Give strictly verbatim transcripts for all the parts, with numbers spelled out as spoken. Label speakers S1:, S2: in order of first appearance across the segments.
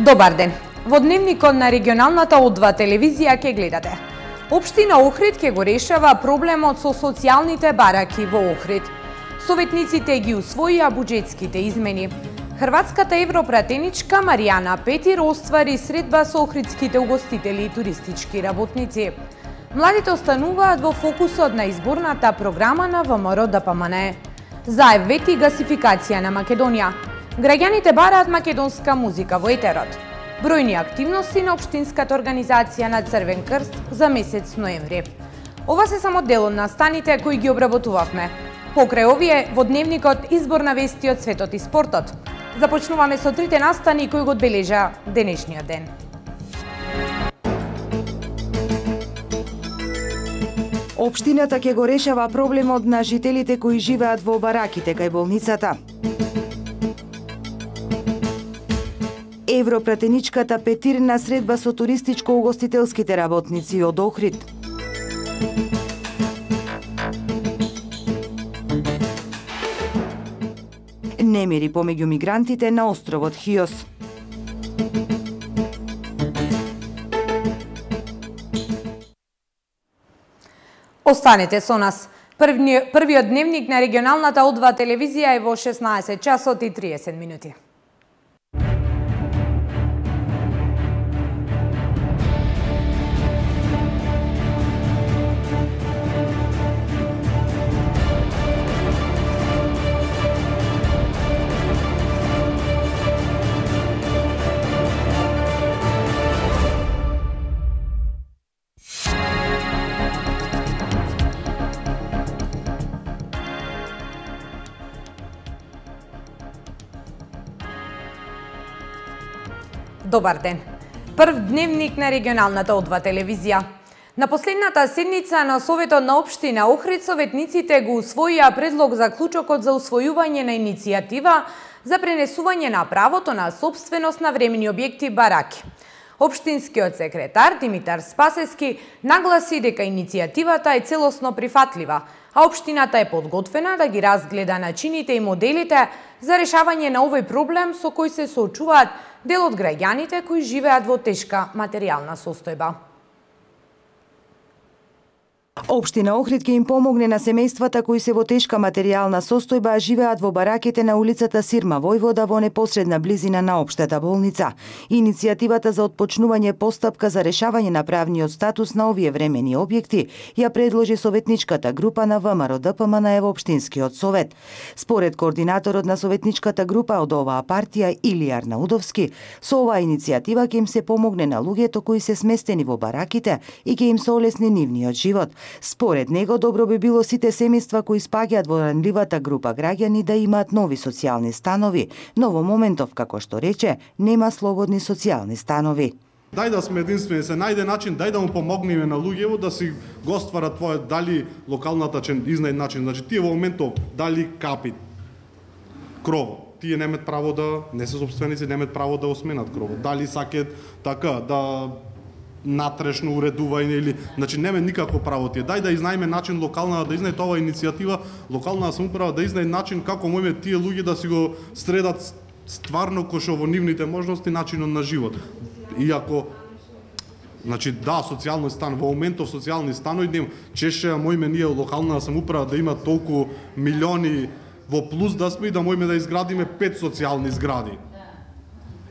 S1: Добар ден. Во дневникот на регионалната О два телевизија ќе гледате. Општина Охрид ќе го решава проблемот со социјалните бараки во Охрид. Советниците ги усвоија буџетските измени. Хрватската европратеничка Маријана Петир оствари средба со охридските угостители и туристички работници. Младите остануваат во фокусот на изборната програма на Вэ Ем Р Д П М Н Е. Заев вети гасификација на Македонија. Граѓаните бараат македонска музика во етерот. Бројни активности на општинската организација на Црвен крст за месец ноември. Ова се само дел од настаните кои ги обработувавме. Покрај овие во дневникот избор на вести од светот и спортот. Започнуваме со трите настани кои го одбележа денешниот ден.
S2: Општината ќе го решава проблемот на жителите кои живеат во бараките кај болницата. Европратеничката Петир на средба со туристичко-угостителските работници од Охрид. Немири помеѓу мигрантите на островот Хиос.
S1: Останете со нас. Првни, првиот дневник на регионалната О два телевизија е во шеснаесет часот и триесет минути. Добар ден. Прв дневник на регионалната О два телевизија. На последната седница на Советот на општина Охрид советниците го усвоија предлог за клучокот за усвојување на иницијатива за пренесување на правото на сопственост на времени објекти бараки. Општинскиот секретар Димитар Спасески нагласи дека иницијативата е целосно прифатлива, а општината е подготвена да ги разгледа начините и моделите за решавање на овој проблем со кој се соочуваат дел од граѓаните кои живеат во тешка материјална состојба.
S2: Општина Охрид ќе им помогне на семејствата кои се во тешка материјална состојба, а живеат во бараките на улицата Сирма Војвода во непосредна близина на општата болница. Иницијативата за отпочнување постапка за решавање на правниот статус на овие времени објекти ја предложи советничката група на Вэ Ем Р Д П М Н Е во општинскиот совет. Според координаторот на советничката група од оваа партија Илија Арнаудовски, со оваа иницијатива ќе им се помогне на луѓето кои се сместени во бараките и ќе им се олесни нивниот живот. Според него, добро би било сите семејства кои спаѓаат во ранливата група граѓани да имаат нови социјални станови, но во моментов, како што рече, нема слободни социјални станови.
S3: Дај да сме единствени, се најде начин, дај да му помогнеме на луѓето да си го стварат твое, дали локалната че изнајде начин, значи тие во моментов дали капи крово, тие немаат право да не се собственици, немаат право да осменат крово. Дали сакаат така да натрешно уредување или, значи нема никакво право тие. Дај да изнајме начин локална да изнајде оваа иницијатива, локална самоуправа да изнајде начин како можеме тие луѓе да си го средат стварно кој што во нивните можности начинот на живот. Иако значи да, социјални стан во моментов социјални станови нема, чеше можеме ние локална самоуправа да има толку милиони во плюс да сме и да можеме да изградиме пет социјални згради.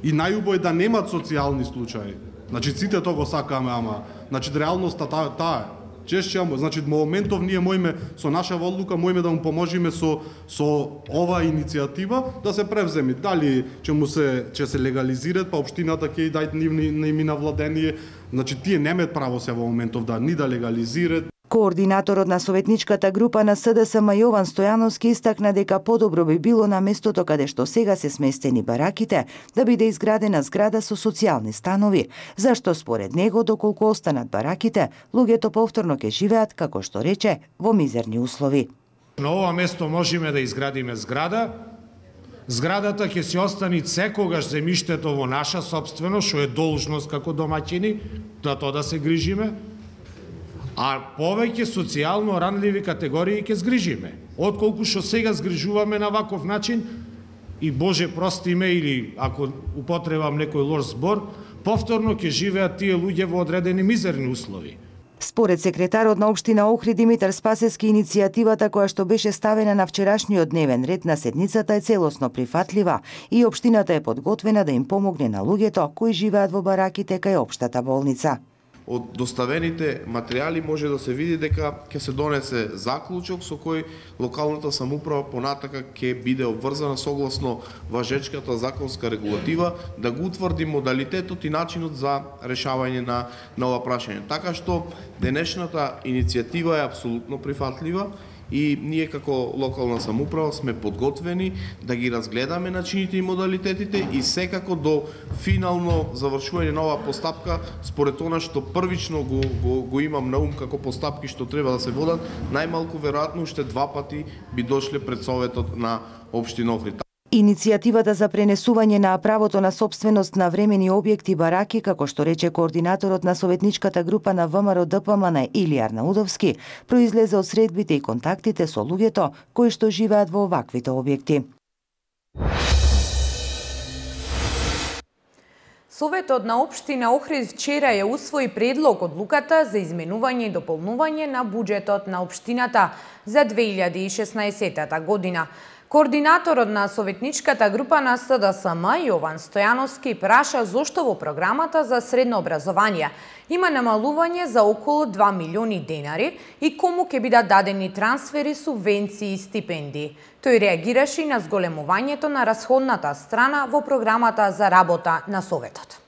S3: И најубаво е да немат социјални случаи. Значи сите тоа го сакаме, ама значи реалноста таа таа чешće, значи во моментов ние можеме со наша одлука можеме да му поможиме со со оваа иницијатива да се превземи. Дали ќе му се ќе се легализираат, па општината ќе дај нивни ними на владение, значи тие немаат право се во моментов да ни да легализираат.
S2: Координаторот на советничката група на С Д С М Јован Стојановски истакна дека подобро би било на местото каде што сега се сместени бараките да биде изградена зграда со социјални станови, зашто според него доколку останат бараките, луѓето повторно ќе живеат, како што рече, во мизерни услови.
S4: На ова место можеме да изградиме зграда. Зградата ќе се остани секогаш земјиштето во наша сопственост, што е должност како домаќини, да тоа да се грижиме. А повеќе социјално ранливи категории ќе згрижиме, отколку што сега згрижуваме на ваков начин и Боже прости ме, или ако употребам некој лош збор, повторно ќе живеат тие луѓе во одредени мизерни услови.
S2: Според секретарот на општина Охрид Димитар Спасевски, иницијативата која што беше ставена на вчерашниот дневен ред на седницата е целосно прифатлива и општината е подготвена да им помогне на луѓето кои живеат во бараките кај општата болница.
S5: Од доставените материјали може да се види дека ќе се донесе заклучок со кој локалната самоуправа понатака ќе биде обврзана согласно важечката законска регулатива да го утврди модалитетот и начинот за решавање на, на ова прашање. Така што денешната иницијатива е апсолутно прифатлива и ние како локална самоуправа сме подготвени да ги разгледаме начините и модалитетите и секако до финално завршување на оваа постапка, според она што првично го, го, го имам на ум како постапки што треба да се водат, најмалку веројатно уште два пати би дошле пред Советот на општина Охрид.
S2: Иницијативата за пренесување на правото на сопственост на времени објекти бараки, како што рече координаторот на советничката група на ВМРО Д П М Н Илија Арнаудовски, произлезе од средбите и контактите со луѓето кои што живеат во оваквите објекти.
S1: Советот на општина Охрид вчера ја усвои предлог одлуката за изменување и дополнување на буџетот на општината за две илјади и шеснаесетта година. Координаторот на советничката група на С Д С М Јован Стојановски праша зошто во програмата за средно образование има намалување за околу два милиони денари и кому ќе бидат дадени трансфери, субвенции и стипендии. Тој реагираше и на зголемувањето на расходната страна во програмата за работа на Советот.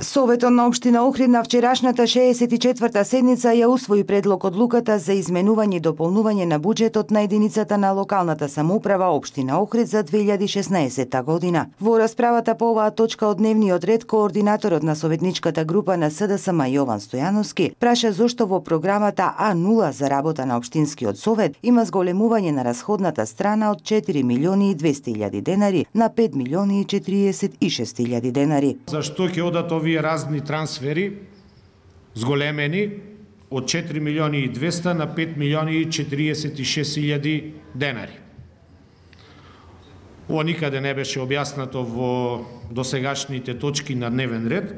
S2: Советот на општина Охрид на вчерашната шеесет и четврта седница ја усвои предлог одлуката за изменување и дополнување на буџетот на единицата на локалната самоуправа општина Охрид за две илјади и шеснаесетта година. Во расправата по оваа точка од дневниот ред, координаторот на советничката група на С Д С М Јован Стојановски праша зошто во програмата А нула за работа на општинскиот совет има зголемување на расходната страна од четири милиони и двесте илјади денари на пет милиони и четириесет и шест илјади денари.
S4: Зашто ќе одат овие разни трансфери зголемени од четири милиони и двесте на пет милиони и четириесет и шест илјади денари? Ова никаде не беше објаснато во досегашните точки на дневен ред,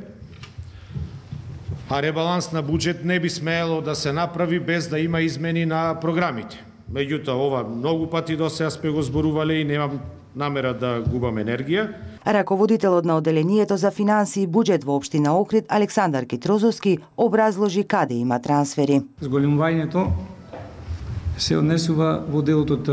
S4: а ребаланс на буџет не би смеело да се направи без да има измени на програмите. Меѓутоа, ова многу пати до сега сме го зборувале и немам намера да губам енергија.
S2: Раководителот на оделението за финансии и буџет во општина Охрид Александар Китрозовски образложи каде има трансфери.
S6: Зголемувањето се однесува во делот од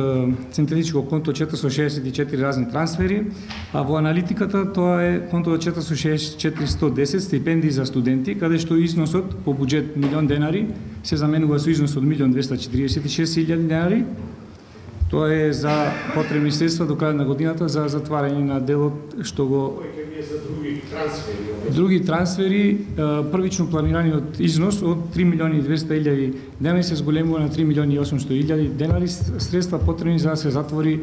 S6: централичко конто четиристотини шеесет и четири разни трансфери, а во аналитиката тоа е конто четиристотини шеесет и четири сто и десет стипендии за студенти, каде што износот по буџет милион денари се заменува со износ од милион двесте четириесет и шест илјади денари. Тоа е за потребни средства до крај на годината за затварање на делот што го
S4: за други трансфери.
S6: Други трансфери, првично планираниот износ од три милиони и двесте илјади денари се зголемува на три милиони и осумсто илјади денари, средства потребни за да се затвори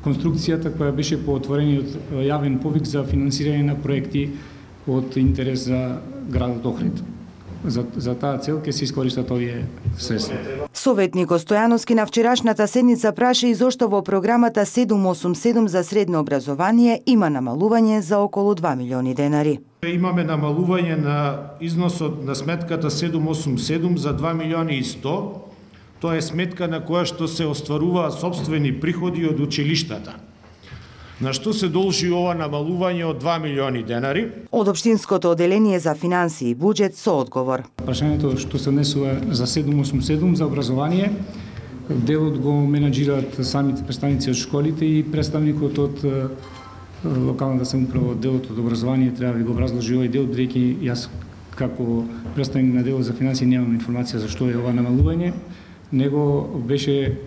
S6: конструкцијата која беше по отворениот јавен повик за финансирање на проекти од интерес за градот Охрид. За, за таа цел ќе се искористат овие средства.
S2: Советникот Стојановски на вчерашната седница праша и зошто во програмата седум осум седум за средно образование има намалување за околу два милиони денари.
S4: Имаме намалување на износот на сметката седум осум седум за два милиони и сто. Тоа е сметка на која што се остваруваат сопствени приходи од училиштата. На што се должи ова намалување од два милиони денари?
S2: Од општинското оделение за финансии и буџет со одговор.
S6: Прашањето што се однесува за седум осум седум за образование, делот го менаџираат самите представници од школите и представникот од локалната самоуправа од делот од образование треба да ви го образложи овој дел, бидејќи јас како представник на делот за финансии немам информација за што е ова намалување, него беше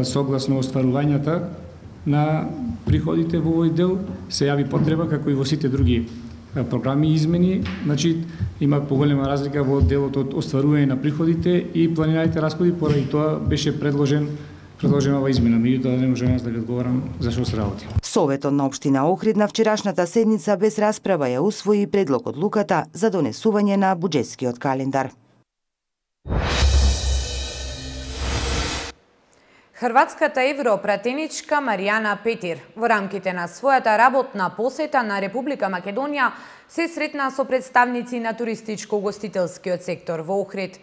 S6: согласно остварувањата на приходите во овој дел, се јави потреба, како и во сите други програми и измени, значи има поголема разлика во делот од остварување на приходите и планираните расходи, поради тоа беше предложен предложена ова измена, меѓутоа не можам јас да ви одговорам за што се работи.
S2: Советот на општина Охрид на вчерашната седница без расправа ја усвои предлог одлуката за донесување на буџетскиот календар.
S1: Хрватската европратеничка Маријана Петир во рамките на својата работна посета на Република Македонија се сретна со представници на туристичко-угостителскиот сектор во Охрид.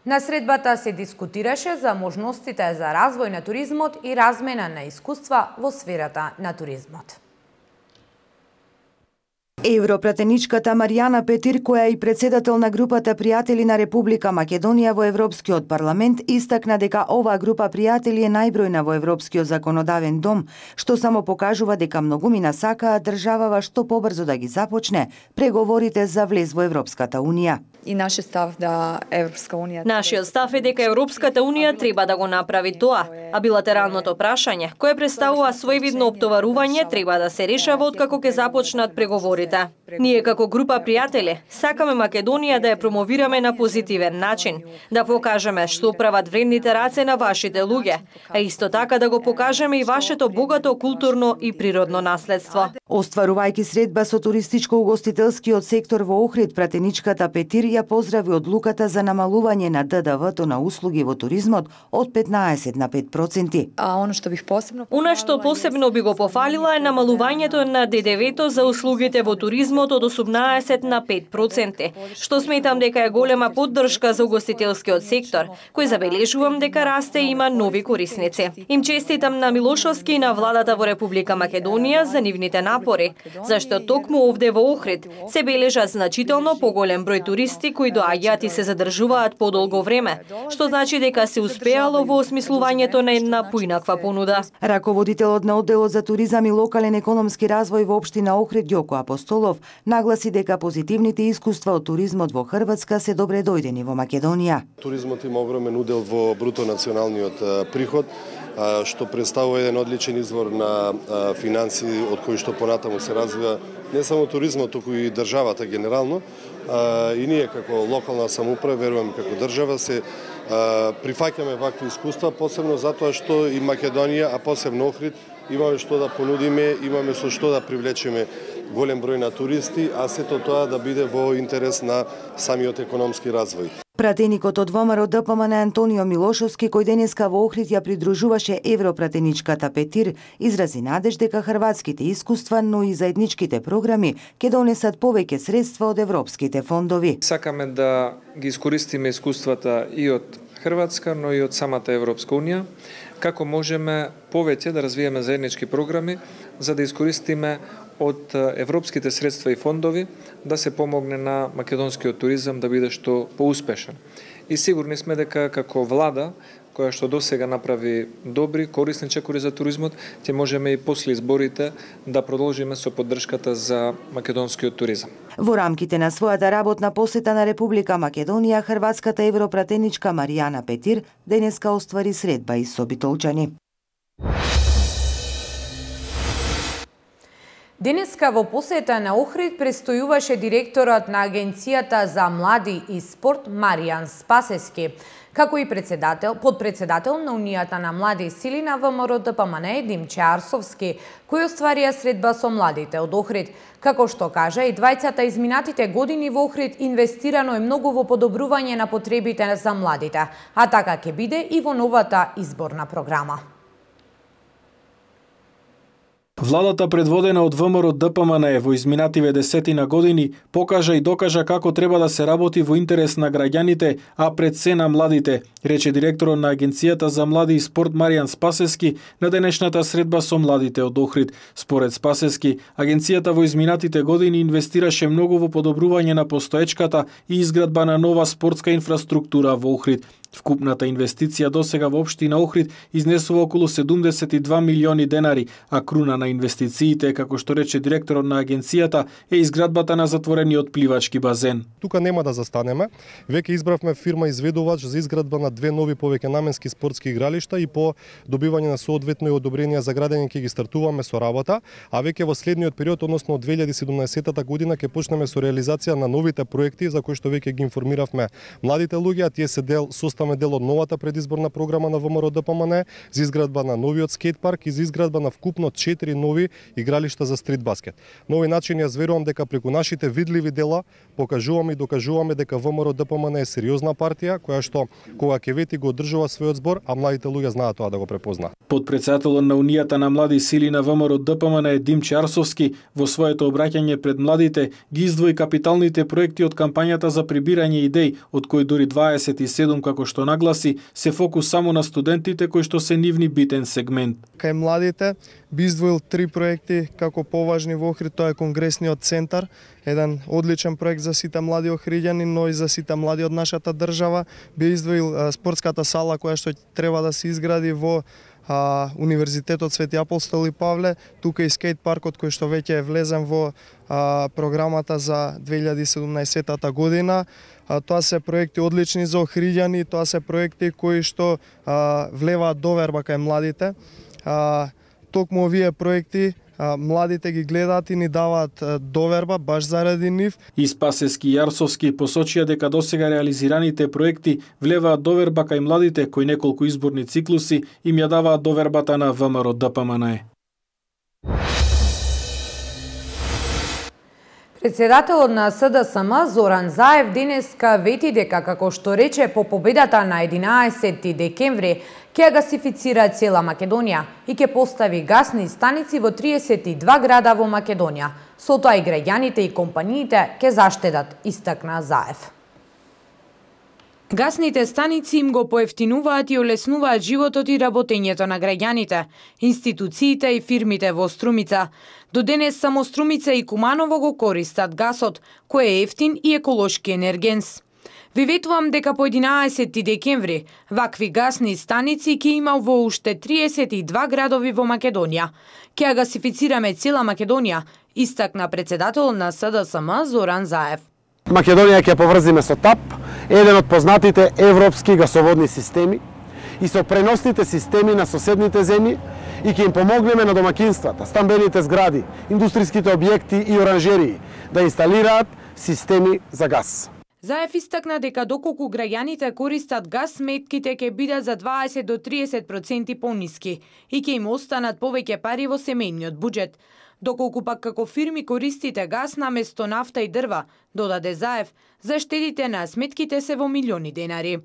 S1: На средбата се дискутираше за можностите за развој на туризмот и размена на искуства во сферата на туризмот.
S2: Европратеничката Маријана Петир, која е и председател на групата пријатели на Република Македонија во Европскиот парламент, истакна дека оваа група пријатели е најбројна во Европскиот законодавен дом, што само покажува дека многумина сакаат државава што побрзо да ги започне преговорите за влез во Европската унија.
S7: И нашиот став да Европска унија
S8: Нашиот став е дека Европската унија треба да го направи тоа, а билатералното прашање, кое представува своевидно оптоварување, треба да се решава откако ќе започнат преговорите. Ние како група пријатели сакаме Македонија да ја промовираме на позитивен начин, да покажеме што прават вредните раце на вашите луѓе, а исто така да го покажеме и вашето богато културно и природно наследство.
S2: Остварувајќи средба со туристичко-угостителскиот сектор во Охрид, пратеничката Петир ја поздрави одлуката за намалување на Д Д В-то на услуги во туризмот од петнаесет на пет проценти.
S7: А оно што бих посебно
S8: Она што посебно би го пофалила е намалувањето на Д Д В-то за услугите во туризмот од осумнаесет на пет проценти, што сметам дека е голема поддршка за угостителскиот сектор, кој забележувам дека расте и има нови корисници. Им честитам на Милошовски и на владата во Република Македонија за нивните напори, зашто токму овде во Охрид се бележат значително поголем број туристи кои доаѓаат и се задржуваат подолго време, што значи дека се успеало во осмислувањето на една поинаква понуда.
S2: Раководителот на одделот за туризам и локален економски развој во општина Охрид Ѓоко Апостолов нагласи дека позитивните искуства од туризмот во Хрватска се добре дојдени во Македонија.
S9: Туризмот има огромен удел во бруто националниот приход, што представува еден одличен извор на финансии од кои што понатаму се развива не само туризмот, туку и државата генерално. И ние како локална самоуправа, верувам како држава, се прифаќаме вакви искуства, посебно затоа што и Македонија, а посебно Охрид, имаме што да понудиме, имаме со што да привлечеме голем број на туристи, а сето тоа да биде во интерес на самиот економски развој.
S2: Пратеникот од Во М Р Д П М Н Антонио Милошовски, кој денеска во Охрид ја придружуваше европратеничката Петир, изрази надеж дека хрватските искуства, но и заедничките програми ќе донесат повеќе средства од европските фондови.
S10: Сакаме да ги искористиме искуствата и од Хрватска, но и од самата Европска унија, како можеме повеќе да развиеме заеднички програми за да искористиме од европските средства и фондови да се помогне на македонскиот туризам да биде што поуспешен. И сигурни сме дека како влада, која што досега направи добри, корисни чекори за туризмот, ќе можеме и после изборите да продолжиме со поддршката за македонскиот туризам.
S2: Во рамките на својата работна посета на Република Македонија, хрватската европратеничка Маријана Петир денеска оствари средба и со битолчани.
S1: Денеска во посета на Охрид престојуваше директорот на Агенцијата за млади и спорт Маријан Спасески, како и председател, подпредседател на Унијата на млади сили на В М Р Д П М Н Димче Арсовски, кој остварија средба со младите од Охрид. Како што кажа, и двајцата изминатите години во Охрид инвестирано е многу во подобрување на потребите за младите, а така ќе биде и во новата изборна програма.
S11: Владата предводена од В М Р Д П М Н во изминативе десетина години покажа и докажа како треба да се работи во интерес на граѓаните, а пред се на младите, рече директорот на Агенцијата за млади и спорт Маријан Спасески на денешната средба со младите од Охрид. Според Спасески, агенцијата во изминатите години инвестираше многу во подобрување на постоечката и изградба на нова спортска инфраструктура во Охрид. Вкупната инвестиција досега во општина Охрид изнесува околу седумдесет и два милиони денари, а круна на инвестициите, како што рече директорот на агенцијата, е изградбата на затворениот пливачки базен.
S12: Тука нема да застанеме. Веќе избравме фирма изведувач за изградба на две нови повеќенаменски спортски игралишта и по добивање на соодветно одобрение за градење ќе ги стартуваме со работа, а веќе во следниот период, односно од две илјади и седумнаесета година, ќе почнеме со реализација на новите проекти за кои што веќе ги информиравме младите луѓе, а тие се дел со поставаме дел од новата предизборна програма на ВМРО Д П М Н за изградба на новиот скейт парк и за изградба на вкупно четири нови игралишта за стрит баскет. На овој начин јас верувам дека преку нашите видливи дела покажуваме и докажуваме дека ВМРО Д П М Н е сериозна партија која што кога ќе вети го одржува својот збор, а младите луѓе знаат тоа да го препознаат.
S11: Подпредседателот на Унијата на млади сили на ВМРО Д П М Н Димче Арсовски во своето обраќање пред младите ги издвои капиталните проекти од кампањата за прибирање идеи, од кои дури дваесет и седум, како што нагласи, се фокус само на студентите кои што се нивни битен сегмент.
S13: Кај младите би издвоил три проекти како поважни во Охрид, тоа е Конгресниот центар, еден одличен проект за сите млади охриѓани, но и за сите млади од нашата држава. Би издвоил спортската сала која што треба да се изгради во а, Универзитетот Свети Апостол и Павле, тука и скейт паркот кој што веќе е влезен во а, програмата за две илјади и седумнаесетта година. А, тоа се проекти одлични за охриѓани, тоа се проекти кои што а, влеваат доверба кај младите. А, токму овие проекти а, младите ги гледаат и ни даваат а, доверба баш заради нив.
S11: И Спасески и Јарсовски посочија дека досега реализираните проекти влеваат доверба кај младите кои неколку изборни циклуси им ја даваат довербата на ВМРО Д П М Н.
S1: Председателот на С Д С М Зоран Заев денеска вети дека, како што рече, по победата на единаесетти декември ќе гасифицира цела Македонија и ќе постави гасни станици во триесет и два града во Македонија. Со тоа и граѓаните и компаниите ќе заштедат, истакна Заев. Гасните станици им го поевтинуваат и олеснуваат животот и работењето на граѓаните, институциите и фирмите во Струмица. До денес само Струмица и Куманово го користат гасот, кој е ефтин и еколошки енергенс. Ви ветувам дека по единаесетти декември вакви гасни станици ќе има во уште триесет и два градови во Македонија. Ќе ја гасифицираме цела Македонија, истакна председател на С Д С М Зоран Заев.
S14: Македонија ќе поврзиме со ТАП, еден од познатите европски гасоводни системи, и со преносните системи на соседните земји и ќе им помогнеме на домакинствата, стамбените згради, индустријските објекти и оранжерии да инсталираат системи за газ.
S1: Заев истакна дека доколку граѓаните користат газ, сметките ќе бидат за дваесет до триесет проценти пониски и ќе им останат повеќе пари во семејниот буџет. Доколку пак како фирми користите газ наместо нафта и дрва, додаде Заев, заштедите на сметките се во милиони денари.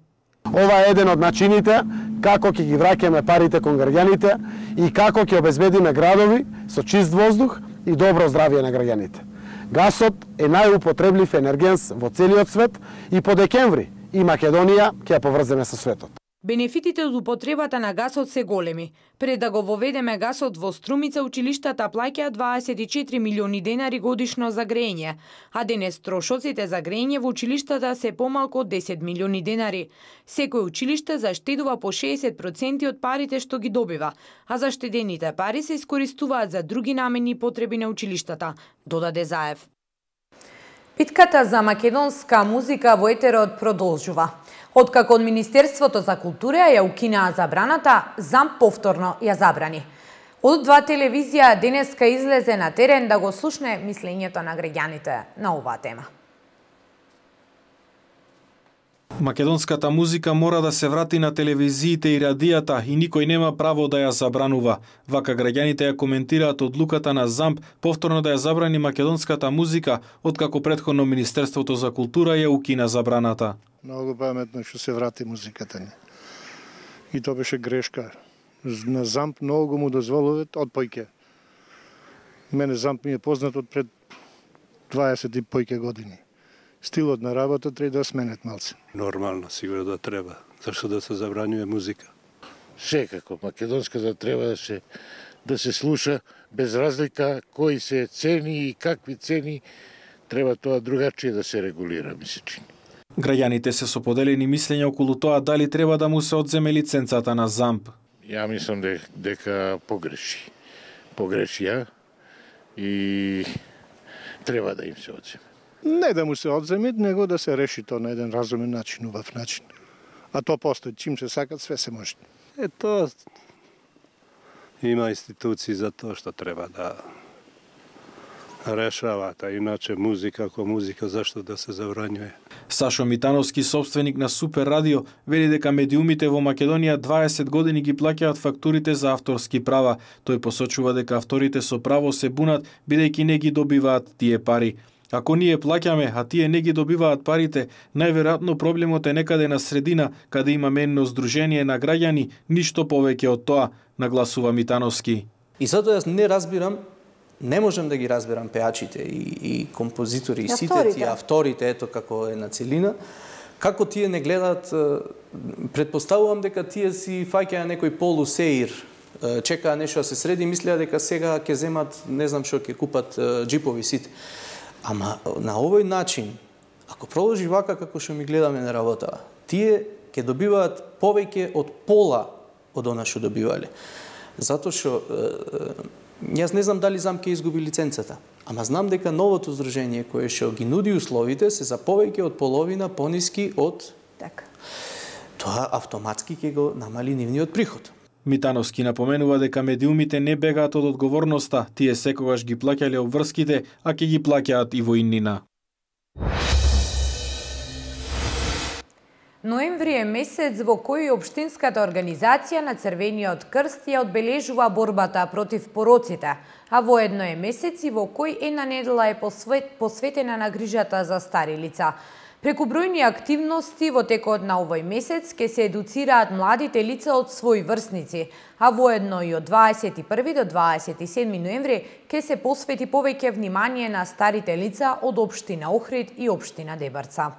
S14: Ова е еден од начините како ќе ги враќаме парите кон граѓаните и како ќе обезбедиме градови со чист воздух и добро здравје на граѓаните. Гасот е најупотреблив енергенс во целиот свет и по декември и Македонија ќе ја поврземе со светот.
S1: Бенефитите од употребата на гасот се големи. Пред да го воведеме гасот во Струмица, училиштата плаќаат дваесет и четири милиони денари годишно за грејење, а денес трошоците за грејење во училиштата се помалку од десет милиони денари. Секој училиште заштедува по шеесет проценти од парите што ги добива, а заштедените пари се искористуваат за други намени и потреби на училиштата, додаде Заев. Битката за македонска музика во етерот продолжува. Откако од Министерството за култура ја укинаа забраната, ЗАМП повторно ја забрани. Од два телевизија денеска излезе на терен да го слушне мислењето на граѓаните на оваа тема.
S11: Македонската музика мора да се врати на телевизиите и радијата и никој нема право да ја забранува. Вака граѓаните ја коментираат одлуката на ЗАМП повторно да ја забрани македонската музика, откако претходно Министерството за култура ја укина забраната.
S15: Многу паметно што се врати музиката ни. И тоа беше грешка. На ЗАМП многу му дозволуват од појке. Мене ЗАМП ми е познат од пред дваесет и појке години. Стилот на работа треба да сменет малце.
S16: Нормално, сигурно да треба. Зашто да се забранjuje музика?
S17: Секако, македонската треба да се да се слуша без разлика кои се цени и какви цени, треба тоа другачие да се регулира, ми се чини.
S11: Граѓаните се со поделени мислења околу тоа дали треба да му се одземе лиценцата на ЗАМП.
S17: Ја мислам дека, дека погреши. Погреши ја и треба да им се одземе.
S15: Не да му се одземе, него да се реши тоа на еден разумен начин, убав начин. А тоа постои, чим се сакат, све се може.
S16: Ето, има институции за тоа што треба да решават, а иначе музика ко музика зашто да се забранjuje.
S11: Сашо Митановски, собственик на Супер Радио, вели дека медиумите во Македонија дваесет години ги плаќаат фактурите за авторски права. Тој посочува дека авторите со право се бунат бидејќи не ги добиваат тие пари. Ако ние плаќаме, а тие не ги добиваат парите, најверојатно проблемот е некаде на средина, каде има менно здружение на граѓани, ништо повеќе од тоа, нагласува Митановски.
S18: И затоа јас не разбирам, не можам да ги разбирам пеачите и, и композитори, и сите тие авторите, ето како е на целина, како тие не гледаат, предпоставувам дека тие си фаќаја некој полусеир, чекаа нешто да се среди, мислеа дека сега ќе земат, не знам што, ќе купат джипови сите. Ама на овој начин, ако продолжи вака како што ми гледаме на работа, тие ќе добиваат повеќе од пола од она што добивале. Затоа што јас не знам дали ЗАМ ќе изгуби лиценцата, ама знам дека новото здружение кое што ги нуди условите се за повеќе од половина пониски од
S7: така.
S18: Тоа автоматски ќе го намали нивниот приход.
S11: Митановски напоменува дека медиумите не бегаат од одговорноста, тие секогаш ги плаќале обврските, а ќе ги плаќаат и во иднина.
S1: Ноември е месец во кој Општинската организација на Црвениот крст ја одбележува борбата против пороците, а воедно е месец и во кој една недела е посвет, посветена на грижата за стари лица. Преку бројни активности во текот на овој месец ќе се едуцираат младите лица од своји врсници, а воедно и од дваесет и први до дваесет и седми ноември ќе се посвети повеќе внимание на старите лица од општина Охрид и општина Дебарца.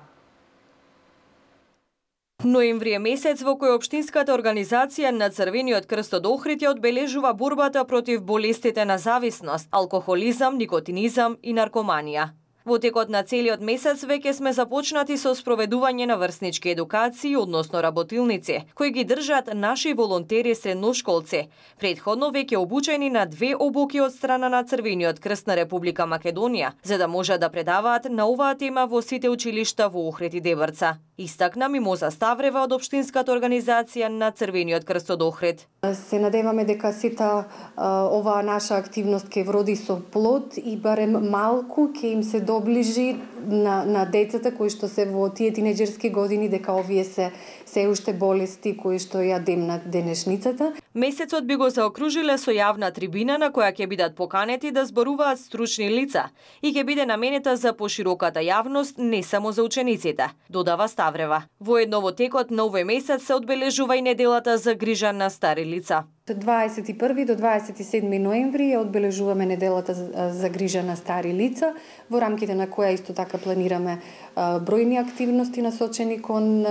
S8: Ноември е месец во кој Општинската организација на Црвениот крст од Охрид ја одбележува борбата против болестите на зависност, алкохолизам, никотинизам и наркоманија. Во текот на целиот месец веќе сме започнати со спроведување на врснички едукации, односно работилници, кои ги држат наши волонтери средношколци, предходно веќе обучени на две обуки од страна на Црвениот крст на Република Македонија, за да можат да предаваат на оваа тема во сите училишта во Охрид и Дебарца. Истакна Мимоза Ставрева од Општинската организација на Црвениот крст од Охрид.
S19: Се надеваме дека сета оваа наша активност ќе вроди со плод и барем малку ќе им се доближи на, на децата кои што се во тие тинеџерски години, дека овие се се уште болести кои што ја демнат денешницата.
S8: Месецот би го заокружиле со јавна трибина на која ќе бидат поканети да зборуваат стручни лица и ќе биде наменета за пошироката јавност, не само за учениците, додава Ставрева. Воедно во текот на овој месец се одбележува и неделата за грижа на стари лица.
S19: дваесет и први до дваесет и седми ноември ја одбележуваме неделата за грижа на стари лица, во рамките на која исто така планираме бројни активности насочени кон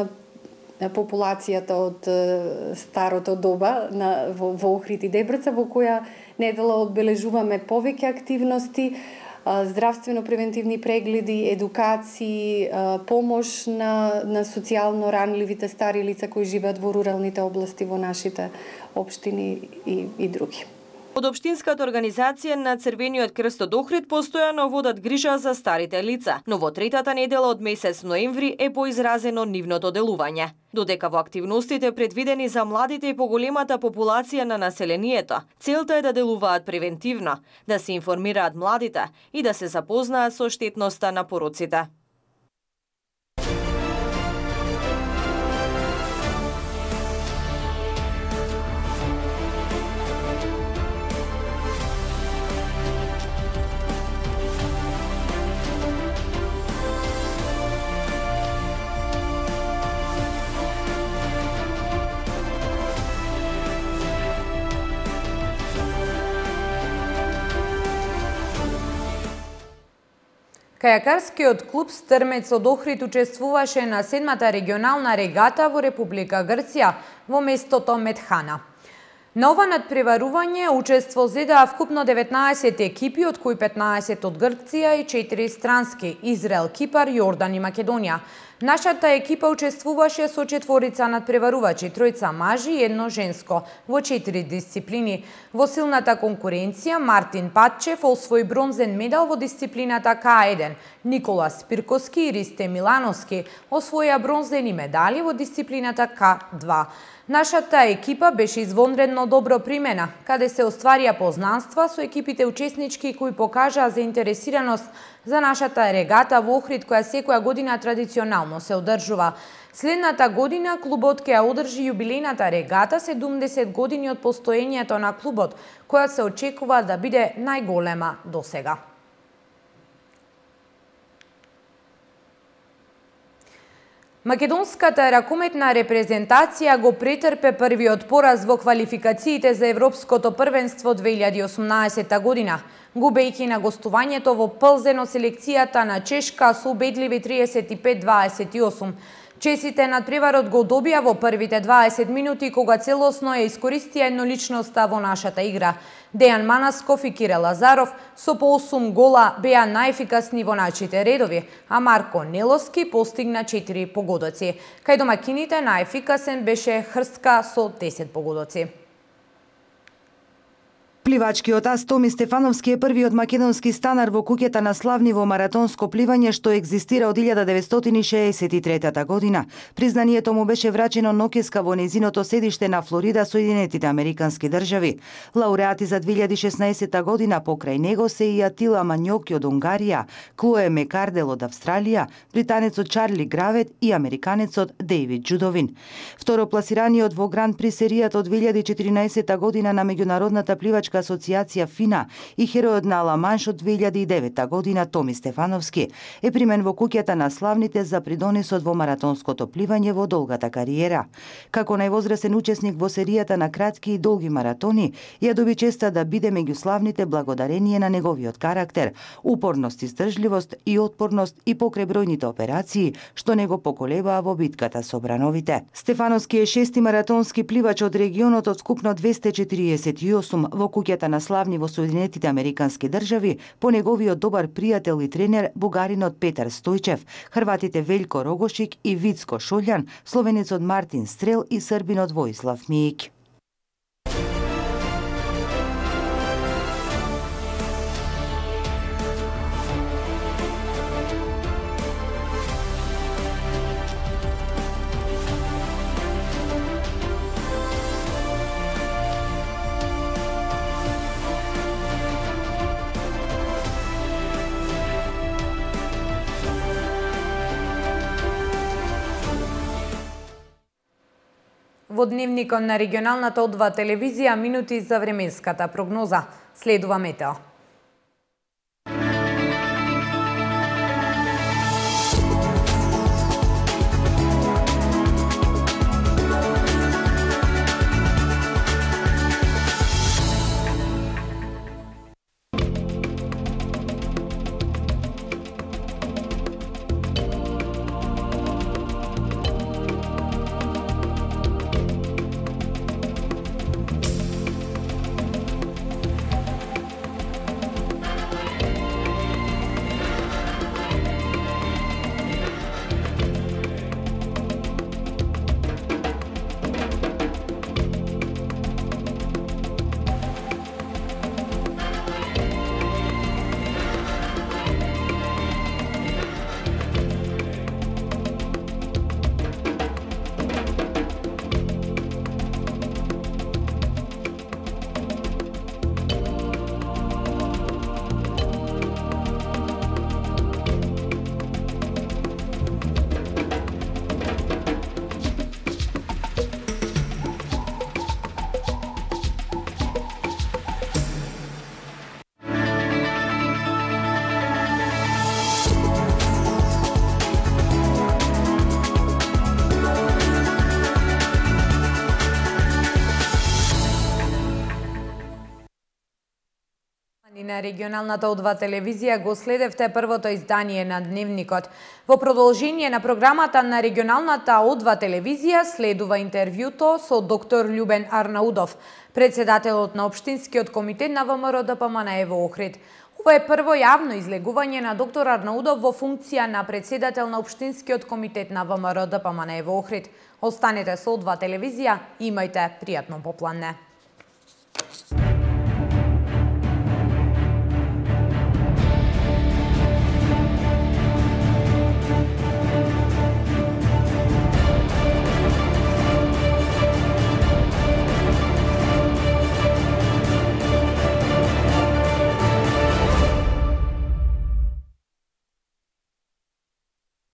S19: популацијата од старото доба на, во, во Охрид и Дебраца, во која недела одбележуваме повеќе активности, здравствено-превентивни прегледи, едукации, помош на, на социјално ранливите стари лица кои живеат во руралните области во нашите општини и, и други.
S8: Од Општинската организација на Црвениот крст од Охрид постојано водат грижа за старите лица, но во третата недела од месец ноември е поизразено нивното делување. Додека во активностите предвидени за младите и поголемата популација на населението, целта е да делуваат превентивно, да се информираат младите и да се запознаат со штетноста на пороците.
S1: Кајакарскиот клуб Стрмец од Охрид учествуваше на седмата регионална регата во Република Грција во местото Метхана. На ова надпреварување учество зедаа вкупно деветнаесет екипи, од кои петнаесет од Грција и четири странски – Израел, Кипар, Јордан и Македонија. Нашата екипа учествуваше со четворица надпреварувачи, тројца мажи и едно женско, во четири дисциплини. Во силната конкуренција Мартин Патчев освои бронзен медал во дисциплината К еден. Никола Спирковски и Ристе Милановски освоја бронзени медали во дисциплината К два. Нашата екипа беше извонредно добро примена, каде се остварија познанства со екипите учеснички кои покажаа заинтересираност за нашата регата во Охрид, која секоја година традиционално се одржува. Следната година клубот ќе ја одржи јубилејната регата седумдесет години од постоењето на клубот, која се очекува да биде најголема досега. Македонската ракометна репрезентација го претрпе првиот пораз во квалификациите за Европското првенство две илјади и осумнаесета година, губејќи на гостувањето во Плзен од селекцијата на Чешка со убедливи триесет и пет дваесет и осум. Чесите надпреварот го добија во првите дваесет минути, кога целосно ја искористија едноличноста во нашата игра. Дејан Манасков и Кире Лазаров со по осум гола беа најефикасни во нашите редови, а Марко Нелоски постигна четири погодоци. Кај домакините најефикасен беше Хрстка со десет погодоци.
S2: Пливачкиот ас Томи Стефановски е првиот македонски станар во куќата на славни во маратонско пливање што екзистира од илјада деветстотини шеесет и трета година. Признанието му беше врачено ноќеска во незиното седиште на Флорида, Соединетите Американски држави. Лауреати за две илјади и шеснаесета година покрај него се и Атила Мањоки од Унгарија, Клое Мекардел од Австралија, британецот Чарли Гравет и американецот Дејвид Џудовин. Второпласираниот во Гран При серијата од две илјади и четирнаесета година на меѓународната пливачка асоцијација ФИНА и херојот на Ала-Манш од две илјади и девета година Томи Стефановски е примен во куќата на славните за придонесот во маратонското пливање во долгата кариера. Како највозрасен учесник во серијата на кратки и долги маратони, ја доби честа да биде меѓу славните благодарение на неговиот карактер, упорност, издржливост и отпорност и покрај бројните операции што него поколебаа во битката со брановите. Стефановски е шести маратонски пливач од регионот од вкупно двесте четириесет и осум во куќата на славни во Соединетите Американски држави по неговиот добар пријател и тренер бугаринот Петар Стојчев, хрватите Велјко Рогошик и Вицко Шолјан, словенецот Мартин Стрел и србинот Воислав Мијик.
S1: Во дневникот на регионалната О два телевизија минути за временската прогноза. Следува метео. На регионалната О два телевизија го следевте првото издание на Дневникот. Во продолжение на програмата на регионалната О два телевизија следува интервјуто со доктор Љубен Арнаудов, председателот на Општинскиот комитет на ВМРО ДПМНЕ во Охрид. Ова е прво јавно излегување на доктор Арнаудов во функција на председател на Општинскиот комитет на ВМРО ДПМНЕ во Охрид. Останете со О два телевизија и имајте пријатно попладне.